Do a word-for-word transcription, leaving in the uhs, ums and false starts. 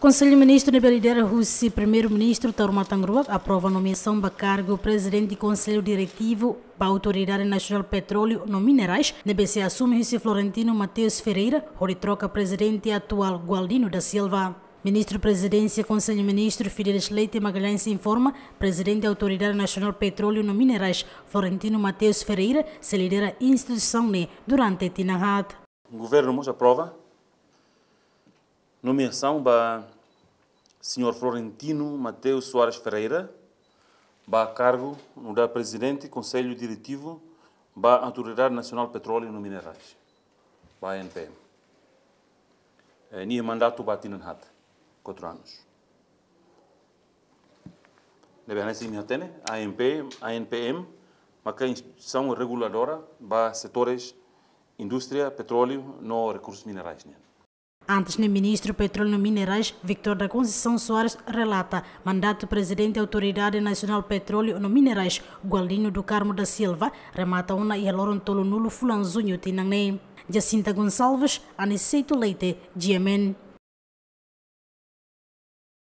Konsellu Ministru ne'ebé lidera husi Primeiru-Ministru Taur Matan Ruak aprova nomeasaun ba kargu Prezidente Konsellu Diretivu ba Autoridade Nasionál Petróleu no Minerais, ne'ebé sei asume husi Florentino Mateus Ferreira, hodi troka prezidente atuál Gualdino da Silva. Ministru Prezidénsia Konsellu Ministru Fidelis Leite Magalhães informa, Prezidente Autoridade Nasionál Petróleu no Minerais, Florentino Mateus Ferreira, sei lidera instituisaun ne'e durante tinan haat. Governu mós aprova nomeasaun ba señór Florentino Mateus Soares Ferreira ba kargu nu'udar Prezidente Konsellu Diretivu ba Autoridade Nasionál Petróleu no Minerais, ba A N P M. Eh, nia mandatu ba tinan haat, quatro anos. Ne'ebé hanesan imi hatene, A N P, A N P M maka instituisaun reguladora ba setores indústria, petróleu no rekursus minerais nian. Antes ne'e, Ministru Petróleu no Minerais, Victor da Conceição Soares, relata mandatu Prezidente Autoridade Nasionál Petróleu no Minerais, Gualdino do Carmo da Silva, remata ona iha loron tolunulu fulan Juñu tinan ne'e. Jacinta Gonçalves, Aniceto Leite, G M N.